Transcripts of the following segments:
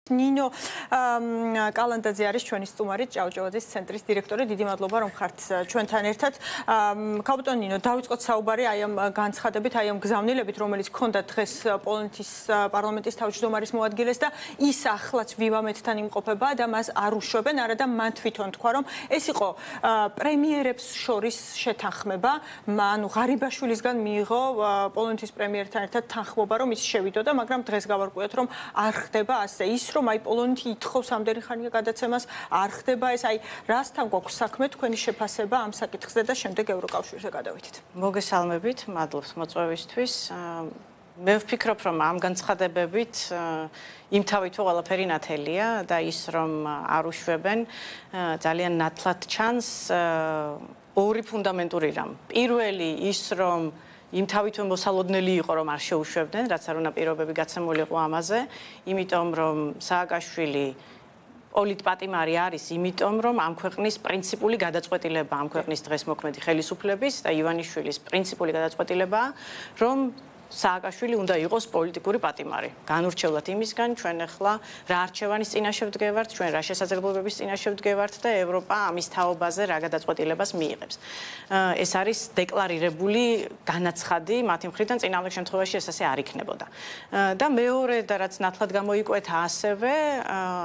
ნინო კალანდაძე არის ჩვენი სტუმარი ჭავჭავაძის ცენტრის დირექტორი. დიდი მადლობა რომ ხართ ჩვენთან ერთად. კაპიტან ნინო, დავიწყოთ საუბარი აი ამ განცხადებით, აი ამ გზავნილებით, რომელიც ჰქონდა დღეს პოლონეთის პარლამენტის თავმჯდომარის მოადგილეს და ის ახლაც ვივამეთთან იმყოფება და მას არ უშვებენ, არადა მან თვითონ თქვა, რომ ეს იყო პრემიერებს შორის შეთანხმება, ანუ ღარიბაშვილისგან მიიღო პოლონეთის პრემიერთან ერთად თანხმობა, რომ ის შევიდოდა, მაგრამ დღეს გავარკვიოთ, რომ არ ხდება ასე. ის რომ აი პოლონეთი ითხოვს ამდენი ხანია გადაცემას, არ ხდება ეს, აი რასთან გვაქვს საქმე თქვენი შეფასება ამ საკითხზე და შემდეგ ევროკავშირზე გადავიდეთ. მოგესალმებით, მადლობს მოწვევისთვის. მე ვფიქრობ, რომ ამ განცხადებებით იმთავითო ყველაფერი ნათელია და ის რომ არ უშვებენ ძალიან ნათლად ჩანს ორი ფუნდამენტური რამ. პირველი ის რომ იმთავითო მოსალოდნელი იყო რომ არ შეუშვებდნენ, რაც არ უნდა პირობები გაცემული იყო ამაზე, იმიტომ რომ სააკაშვილი პოლიტპატიმარი არის, იმიტომ რომ ამ ქვეყნის პრინციპული გადაწყვეტილება, ამ ქვეყნის დღეს მოქმედი ხელისუფლების და ივანიშვილის პრინციპული გადაწყვეტილებაა, რომ სააკაშვილი უნდა იყოს პოლიტიკური პატიმარი. განურჩევლად იმისგან, ჩვენ ახლა რა არჩევანის წინაშე ვდგევართ, ჩვენ რა შესაძლებლობების წინაშე ვდგევართ და ევროპა ამის თაობაზე რა გადაწყვეტილებას მიიღებს. ეს არის დეკლარირებული განაცხადი მათი მხრიდან, წინააღმდეგ შემთხვევაში ეს ასე არ იქნებოდა. და მეორე და რაც ნათლად გამოიკვეთა ასევე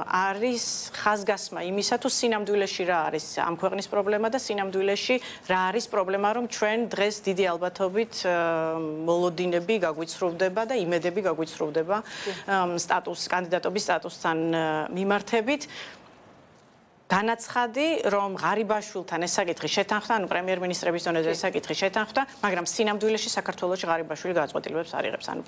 არის ხაზგასმა იმისა, თუ სინამდვილეში რა არის ამ ქვეყნის პრობლემა და სინამდვილეში რა არის პრობლემა, რომ ჩვენ დღეს დიდი ალბათობით მოლოდინები გაგვიცრუვდება და იმედები გაგვიცრუვდება კანდიდატობის სტატუსთან მიმართებით. განაცხადი, რომ ღარიბაშვილთან ეს საკითხი შეთანხმდა, ანუ პრემიერ-მინისტრების დონეზე ეს საკითხი შეთანხმდა, მაგრამ სინამდვილეში საქართველოში ღარიბაშვილი გადაწყვეტილებებს არ იღებს. ანუ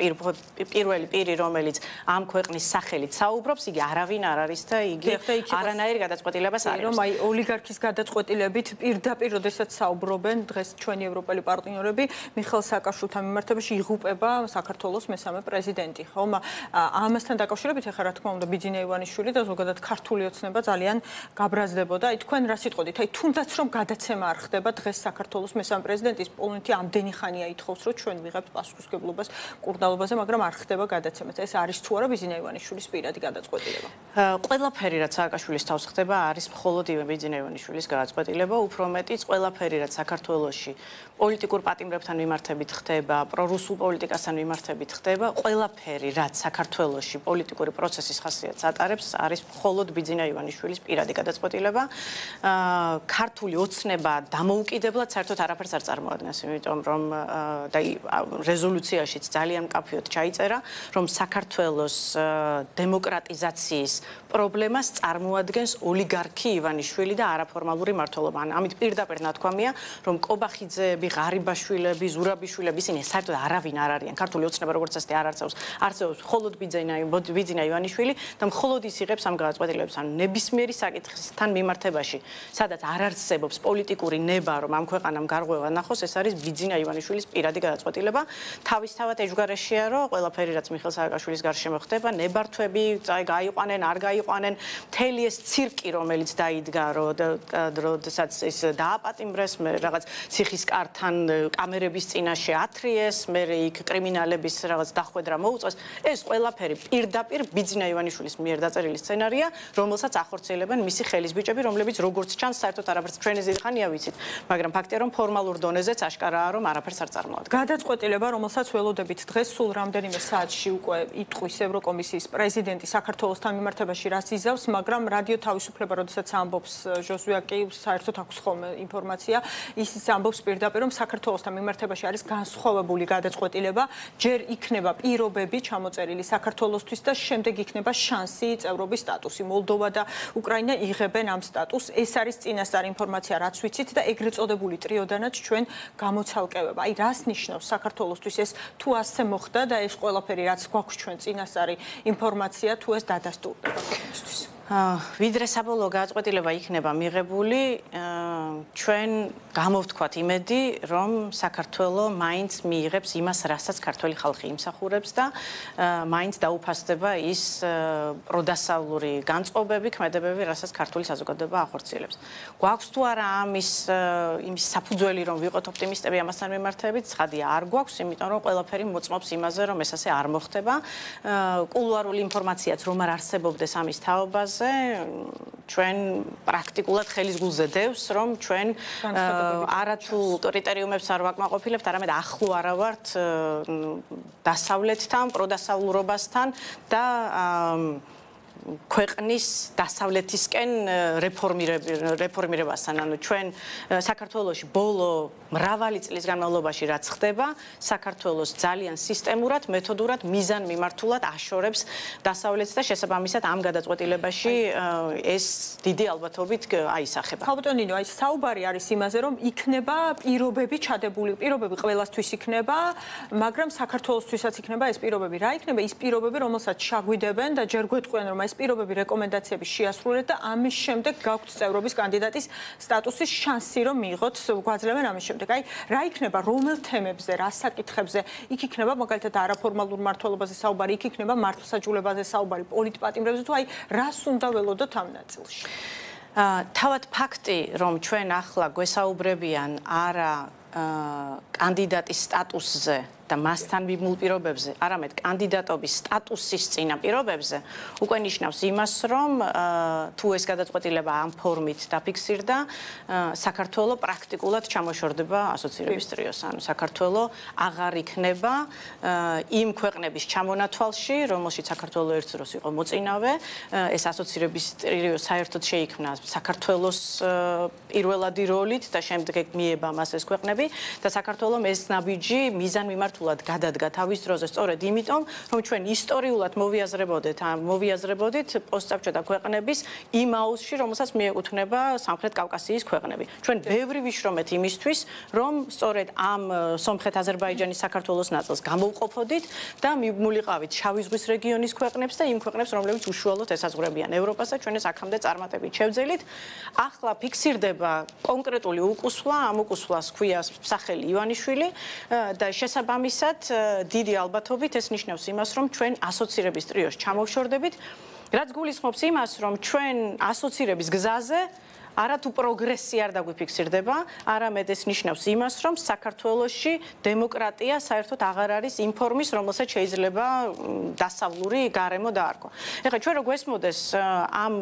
პირველი პირი, რომელიც ამ ქვეყნის სახელით საუბრობს, იგი არავინ არ არის და იგი არანაირ გადაწყვეტილებას არ იღებს. რომ აი ოლიგარქის გადაწყვეტილებით პირდაპირ, როდესაც საუბრობენ დღეს ჩვენი ევროპელი პარტნიორები, მიხეილ სააკაშვილთან მიმართებაში იღუპება საქართველოს მესამე პრეზიდენტი. ხომ ამასთან დაკავშირებით ახლა რა თქმა უნდა ბიძინა ივანიშვილი და ზოგადად ქართული ოცნება ძალიან გაბრაზდებოდა. აი თქვენ რა სიტყვით? აი თუნდაც რომ გადაცემა არ ხდება დღეს საქართველოს მესამე პრეზიდენტის პოლონეთი ამდენი ხანია ითხოვს, რომ ჩვენ ვიღებთ პასუხისმგებლობას კურდალობაზე, მაგრამ არ ხდება გადაცემა. ეს არის თუ არა ბიძინა ივანიშვილის პირადი გადაწყვეტილება? ყველაფერი რაც სააკაშვილის თავს ხდება, არის მხოლოდ ბიძინა ივანიშვილის გადაწყვეტილება, უფრო მეტიც ყველაფერი რაც საქართველოში პოლიტიკურ პატიმრებთან მიმართებით ხდება, პრორუსულ პოლიტიკასთან მიმართებით ხდება, ყველაფერი რაც საქართველოში პოლიტიკური პროცესის ხასიათს ატარებს, არის მხოლოდ ბიძინა ივანიშვილის პირადი გადაწყვეტილება. ქართული ოცნება დამოუკიდებლად საერთოდ არაფერს არ წარმოადგენს, იმიტომ რომ და რეზოლუციაშიც ძალიან მკაფიოდ ჩაიწერა, რომ საქართველოს დემოკრატიზაციის პრობლემას წარმოადგენს ოლიგარქი ივანიშვილი და არაფორმალური მმართველობა. ამით პირდაპირ ნათქვამია, რომ კობახიძეები, ღარიბაშვილები, ზურაბიშვილები, ისინი საერთოდ არავინ არ არიან. ქართული ოცნება როგორც ასეთი არ არსებობს მხოლოდ ბიძინა ივანიშვილი და მხოლოდ ის იღებს ამ გადაწყვეტილებებს. ანუ ნებისმიერი საკითხთან მიმართებაში, სადაც არ არსებობს პოლიტიკური ნება, რომ ამ ქვეყანამ გარღვევა ნახოს, ეს არის ბიძინა ივანიშვილის პირადი გადაწყვეტილება. თავისთავად ეჯგარეშია, რომ ყველაფერი რაც მიხეილ სააკაშვილის გარშემო ხდება, ნებართვები გაიყვანენ, არ გაიყვანენ, მთელი ეს ცირკი, რომელიც დაიდგა, როდესაც ის დააპატიმრეს, მე რაღაც ციხის კართან კამერების წინაშე ათრიეს, მე იქ კრიმინალების რაღაც დახვედრა მოუწეს, ეს ყველაფერი პირდაპირ ბიძინა ივანიშვილის მიერ დაწერილი სცენარია, რომელსაც ახორციელებენ მისი ხელისბიჭები, რომლებიც როგორც ჩანს, საერთოდ არაფერს ჩვენი ზედხანია ვიცით, მაგრამ ფაქტია, რომ ფორმალურ დონეზეც აშკარაა, რომ არაფერს არ წარმოადგენს. გადაწყვეტილება, რომელსაც ველოდებით დღეს სულ რამდენიმე საათში უკვე იტყვის ევროკომისიის პრეზიდენტი საქართველოსთან მიმართებაში რას იზავს, მაგრამ რადიო თავისუფლება, როდესაც ამბობს ჟოზუაკი, საერთოდ აქვს ხოლმე ინფორმაცია, ის ამბობს პირდაპირ, რომ საქართველოსთან მიმართებაში არის განსხვავებული გადაწყვეტილება, ჯერ იქნება პირობები ჩამოწერილი საქართველოსთვის და შემდეგ იქნება შანსი წევრობის სტატუსი. მოლდოვა და უკრაინა იღებენ ამ სტატუსს. ეს არის წინასწარ ინფორმაცია, რაც ვიცით და ეგრეთ წოდებული ტრიოდანაც ჩვენ გამოცალკევება. აი რას ნიშნავს საქართველოსთვის ეს თუ ასე მოხდა და ეს ყველაფერი რაც გვაქვს ჩვენ წინასწარი ინფორმაცია თუ ეს დადასტურდება ქვეყნისთვის? ვიდრე საბოლოო გადაწყვეტილება იქნება მიღებული, ჩვენ გამოვთქვათ იმედი, რომ საქართველო მაინც მიიღებს იმას, რასაც ქართველი ხალხი იმსახურებს და მაინც დაუფასდება ის პროდასავლური განწყობები, ქმედებები, რასაც ქართული საზოგადოება ახორციელებს. გვაქვს თუ არა ამის საფუძველი, რომ ვიყოთ ოპტიმისტები ამასთან მიმართებით, ცხადია, არ გვაქვს, იმიტომ რომ ყველაფერი მოწმობს იმაზე, რომ ეს ასე არ მოხდება. კულუარული ინფორმაციაც რომ არ არსებობდეს ამის თაობაზე, ჩვენ პრაქტიკულად ხელის გულზე დევს, რომ ჩვენ არათუ კრიტერიუმებს არ ვაკმაყოფილებთ, არამედ ახლო არა ვართ დასავლეთთან, პროდასავლურობასთან და ქვეყნის დასავლეთისკენ რეფორმირებასთან. ანუ ჩვენ საქართველოში ბოლო მრავალი წლის განმავლობაში რაც ხდება, საქართველოს ძალიან სისტემურად, მეთოდურად, მიზანმიმართულად აშორებს დასავლეთს და შესაბამისად ამ გადაწყვეტილებაში ეს დიდი ალბათობით აისახება. ხალბატონ ნინო, აი საუბარი არის იმაზე, რომ იქნება პირობები ჩადებული, პირობები ყველასთვის იქნება, მაგრამ საქართველოსთვისაც იქნება ეს პირობები. რა იქნება ის პირობები, რომელსაც ჩაგვიდებენ და ჯერ გვეტყვიან, რომ ეს პირობები რეკომენდაციები შეასრულეთ და ამის შემდეგ გაქვთ წევრობის კანდიდატის სტატუსის შანსი, რომ მიიღოთ, გვაძლევენ ამის შემდეგ. აი, რა იქნება, რომელ თემებზე, რა საკითხებზე? იქ იქნება მაგალითად არაფორმალურ მმართველობაზე საუბარი, იქ იქნება მართლმსაჯულებაზე საუბარი, პოლიტპატიმრებზე თუ აი, რას უნდა ველოდოთ ამ ნაწილში? თავად ფაქტი, რომ ჩვენ ახლა გვესაუბრებიან არა კანდიდატის სტატუსზე და მასთან მიმულ პირობებზე, არამედ კანდიდატობის სტატუსის წინა პირობებზე, უკვე ნიშნავს იმას, რომ თუ ეს გადაწყვეტილება ამ ფორმით დაფიქსირდა, საქართველო პრაქტიკულად ჩამოშორდება ასოცირების ტრიოს. ანუ საქართველო აღარ იქნება იმ ქვეყნების ჩამონათვალში, რომელშიც საქართველო ერთ დროს იყო მოწინავე, ეს ასოცირების ტრიო საერთოდ შეიქმნა საქართველოს პირველადი როლით და შემდეგ მიება მას ეს ქვეყნები და საქართველომ ეს ნაბიჯი მიზანმიმართულად გადადგა თავის დროზე სწორედ იმიტომ, რომ ჩვენ ისტორიულად მოვიაზრებოდით პოსტსაბჭოთა ქვეყნების იმ აუზში, რომელსაც მიეკუთვნება სამხრეთ კავკასიის ქვეყნები. ჩვენ ბევრი ვიშრომეთ იმისთვის, რომ სწორედ ამ სომხეთ-აზერბაიჯანის საქართველოს ნაწილს გამოვყოფოდით და მივმულიყავით შავი ზღვის რეგიონის ქვეყნებს და იმ ქვეყნებს, რომლებიც უშუალოდ ესაზღვრებიან ევროპას და ჩვენ ეს აქამდე წარმატებით შევძელით. ახლა ფიქსირდება კონკრეტული უკუსვლა, ამ უკუსვლას ჰქვია სახელი ივანიშვილი და შესაბამისად დიდი ალბათობით ეს ნიშნავს იმას, რომ ჩვენ ასოცირების ტრიოს ჩამოვშორდებით, რაც გულისხმობს იმას, რომ ჩვენ ასოცირების გზაზე არათუ პროგრესი არ დაგვიფიქსირდება, არამედ ეს ნიშნავს იმას, რომ საქართველოში დემოკრატია საერთოდ აღარ არის იმ ფორმის, რომელსაც შეიძლება დასავლური გარემო დაარქვა. ეხლა ჩვენ რო გვესმოდეს ამ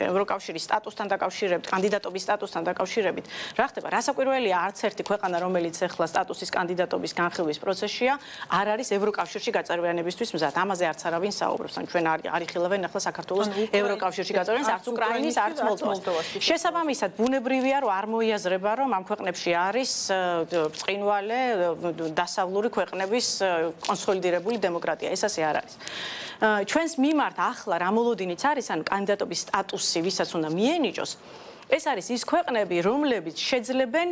ევროკავშირის სტატუსთან დაკავშირებით, კანდიდატობის სტატუსთან დაკავშირებით, რა ხდება? რასაკვირველია, არც ერთი ქვეყანა, რომელიც ეხლა სტატუსის კანდიდატობის განხილვის პროცესშია, არ არის ევროკავშირში გაწევრიანებისთვის მზად. ამაზე არც არავინ საუბრობს. ან ჩვენ არ იხილავენ ახლა საქართველოს ევროკავშირში გაწევრიანებას, არც უკრაინის, არც მოლდოვას. შესაბამისად, ბუნებრივია, რომ არ მოიაზრება, რომ ამ ქვეყნებში არის ბრწყინვალე დასავლური ქვეყნების კონსოლიდირებული დემოკრატია. ეს ასე არ არის. ჩვენს მიმართ ახლა რა მოლოდინიც არის, ანუ კანდიდატობის სტატუსი, ვისაც უნდა მიენიჭოს, ეს არის ის ქვეყნები, რომლებიც შეძლებენ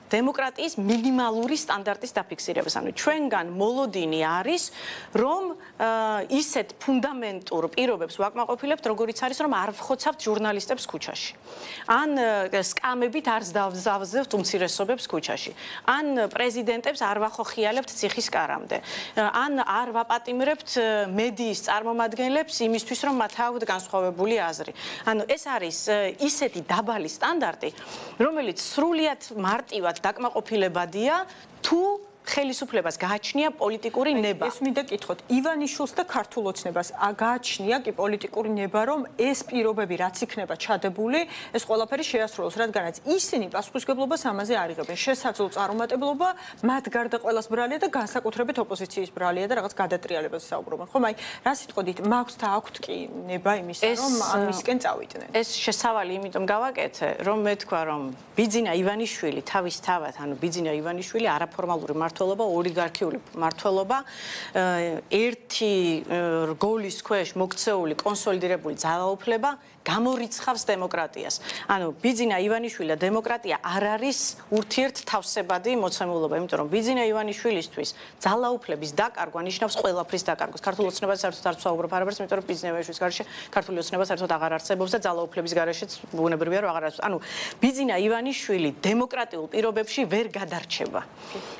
დემოკრატიის მინიმალური სტანდარტის დაფიქსირებას. ანუ ჩვენგან მოლოდინი არის, რომ ისეთ ფუნდამენტურ პირობებს ვაკმაყოფილებთ, როგორიც არის, რომ არ ვხოცავთ ჟურნალისტებს ქუჩაში. ან სკამებით არ დავზავზებთ უმცირესობებს ქუჩაში. ან პრეზიდენტებს არ ვახოხიალებთ ციხის კარამდე. ან არ ვაპატიმრებთ მედიის წარმომადგენლებს იმისთვის, რომ მათ აქვთ განსხვავებული აზრი. ანუ ეს არის ისეთი დაბალი სტანდარტი, რომელიც სრულიად მარტივად დაკმაყოფილებადია თუ ხელისუფლებას გააჩნია პოლიტიკური ნება. ეს მინდა კითხოთ, ივანიშვილს და ქართულ ოცნებას გააჩნია კი პოლიტიკური ნება, რომ ეს პირობები რაც იქნება ჩადებული, ეს ყველაფერი შეასრულოს, რადგანაც ისინი პასუხისმგებლობას ამაზე არ იღებენ. შესაძლო წარუმატებლობა მათ გარდა ყველას ბრალია და განსაკუთრებით ოპოზიციის ბრალია და რაღაც გადატრიალებაზე საუბრობენ. ხომ აი, რა სიტყვით მაქვს და აქვთ კი ნება იმისა, რომ ამისკენ წავიდნენ. ეს შესავალი იმიტომ გავაკეთე, რომ მე თქვა, რომ ბიძინა ივანიშვილი თავისთავად, ანუ ბიძინა ივანიშვილი არაფორმალური მმართველობა, ოლიგარქიული მმართველობა, ერთი რგოლის ქვეშ მოქცეული კონსოლიდირებული ძალაუფლება გამორიცხავს დემოკრატიას. ანუ ბიძინა ივანიშვილი და დემოკრატია არ არის ურთიერთთავსებადი მოცემულობა, იმიტომ რომ ბიძინა ივანიშვილისთვის ძალაუფლების დაკარგვა ნიშნავს ყველაფრის დაკარგვას. ქართულ ოცნებას საერთოდ არ ვსაუბრობ არაფერს, იმიტომ რომ ბიძინა ივანიშვილის გარეშე ქართული ოცნება საერთოდ აღარ არსებობს და ძალაუფლების გარეშეც ბუნებრივია რომ აღარ არსებობს. ანუ ბიძინა ივანიშვილი დემოკრატიულ პირობებში ვერ გადარჩება.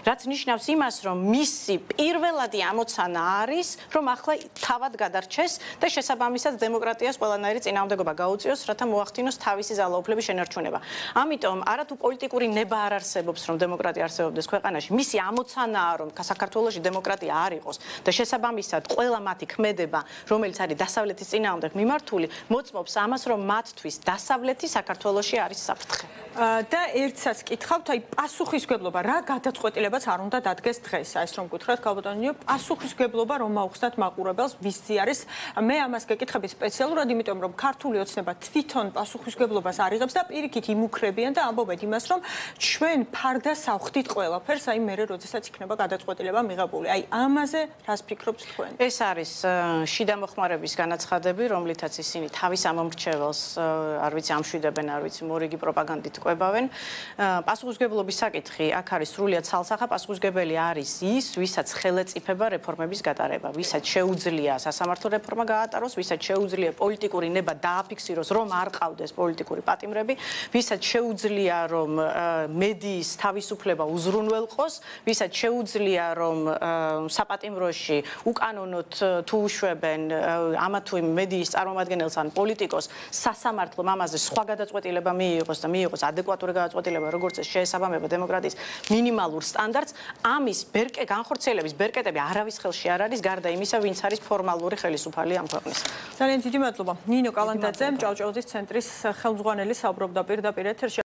რაც ნიშნავს იმას, რომ მისი პირველადი ამოცანა არის, რომ ახლა თავად გადარჩეს და შესაბამისად დემოკრატიას ყველანაირი წინააღმდეგობა გაუწიოს, რათა მოახდინოს თავისი ძალაუფლების შენარჩუნება. ამიტომ არათუ პოლიტიკური ნება არ არსებობს, რომ დემოკრატია არსებობდეს ქვეყანაში. მისი ამოცანაა, რომ საქართველოში დემოკრატია არ იყოს და შესაბამისად ყველა მათი ქმედება, რომელიც არის დასავლეთის წინააღმდეგ მიმართული, მოწმობს ამას, რომ მათთვის დასავლეთი საქართველოში არის საფრთხე. და ერთსაც კითხავთ, აი პასუხისგებლობა რა გადაწყვეტილებაც არ უნდა დადგეს დღეს, აი ეს რომ გითხრათ, ქალბატონიო, პასუხისგებლობა რომ მაუხსნათ მაყურებელს, ვისი არის? მე ამას გეკითხები სპეციალურად, იმიტომ რომ ქართული ოცნება თვითონ პასუხისგებლობას არ იღებს და პირიქით იმუქრებიან და ამბობენ იმას, რომ ჩვენ ფარდასავხდით ყველაფერს, აი მერე როდესაც იქნება გადაწყვეტილება მიღებული. აი ამაზე რას ფიქრობთ თქვენ? ეს არის შიდა მოხმარების განაცხადები, რომლითაც ისინი თავის ამომრჩეველს, არ ვიცი, ამშვიდებენ, არ ვიცი, მორიგი პროპაგანდით ყვებავენ. პასუხისგებლობის საკითხი აქ არის სრულიად ცალსახა. პასუხისგებელი არის ის, ვისაც ხელეწიფება რეფორმების გატარება, ვისაც შეუძლია სასამართლო რეფორმა გაატაროს, ვისაც შეუძლია პოლიტიკური ნება დააფიქსიროს, რომ არ ყავდეს პოლიტიკური პატიმრები, ვისაც შეუძლია, რომ მედიის თავისუფლება უზრუნველყოს, ვისაც შეუძლია, რომ საპატიმროში უკანონოდ თუ უშვებენ ამა თუ იმ მედიის წარმომადგენელს ან პოლიტიკოს, სასამართლომ ამაზე სხვა გადაწყვეტილება მიიღოს და მიიღოს ადეკვატური გადაწყვეტილება, როგორც ეს შეესაბამება დემოკრატიის მინიმალურ სტანდარტს, ამის განხორციელების ბერკეტები არავის ხელში არ არის, გარდა იმისა, ვინც არის ფორმალური ხელისუფალი ამ ქვეყნის. ძალიან დიდი მადლობა. ნინო კალანდაძე, ჭავჭავაძის ცენტრის ხელმძღვანელი, საუბრობდა პირდაპირ ეთერში.